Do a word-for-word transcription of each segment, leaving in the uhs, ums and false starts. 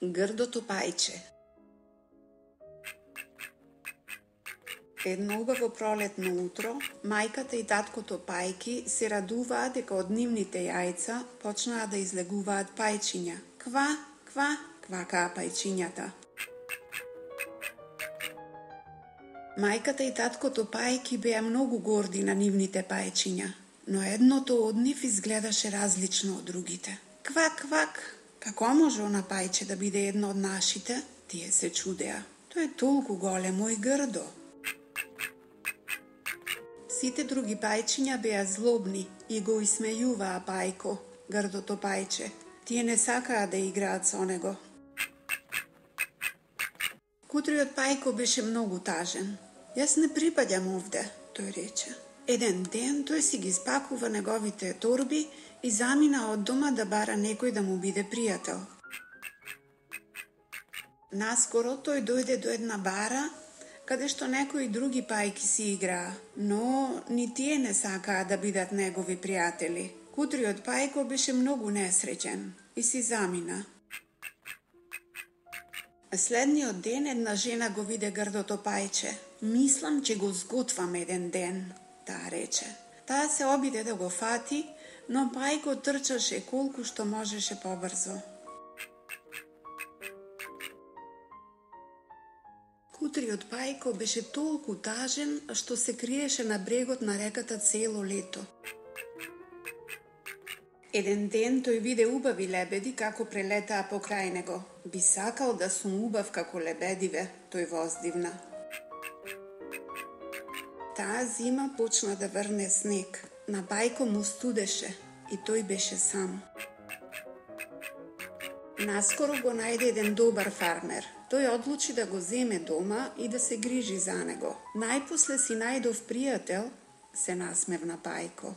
Грдото пајче. Едно убаво пролетно утро, мајката и таткото пајки се радуваат дека од нивните јајца почнаа да излегуваат пајчиња. Ква, ква, квакаа пајчињата. Мајката и таткото пајки беа многу горди на нивните пајчиња, но едното од нив изгледаше различно од другите. Квак, квак, како може она пајче да биде едно од нашите? Тие се чудеа. Тој е толку големо и грдо. Сите други пајчиња беа злобни и го исмејуваа пајко, грдото пајче. Тие не сакаа да играат со него. Кутриот пајко беше многу тажен. Јас не припаѓам овде, тој рече. Еден ден тој си ги спакува неговите торби и замина од дома да бара некој да му биде пријател. Наскоро тој дојде до една бара, каде што некои други пајки си играа, но ни тие не сакаа да бидат негови пријатели. Кутриот пајко беше многу несреќен и си замина. Следниот ден една жена го виде грдото пајче. Мислам, че го сготвам еден ден, таа рече. Таа се обиде да го фати, но пајко трчаше колку што можеше побрзо. Кутриот пајко беше толку тажен што се криеше на брегот на реката цело лето. Еден ден тој виде убави лебеди како прелетаа покрај него. Би сакал да сум убав како лебедиве, тој воздивна. Таа зима почна да врне снег. На пајко му студеше и тој беше сам. Наскоро го најде еден добар фармер. Тој одлучи да го земе дома и да се грижи за него. Најпосле си најдов пријател, се насмевна пајко.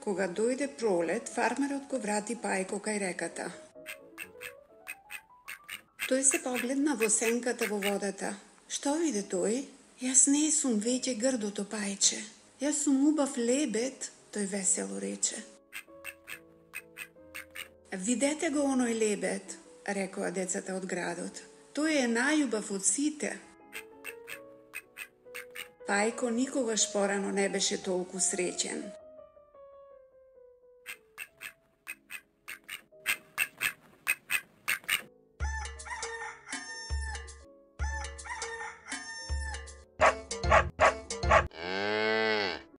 Кога дојде пролет, фармерот го врати пајко кај реката. Тој се погледна во сенката во водата. Што виде тој? Јас не сум веќе грдото пајче. Јас сум убав лебед, тој весело рече. Видете го оној лебед, рекоа децата од градот. Тој е најубав од сите. Пајко никогаш порано не беше толку среќен.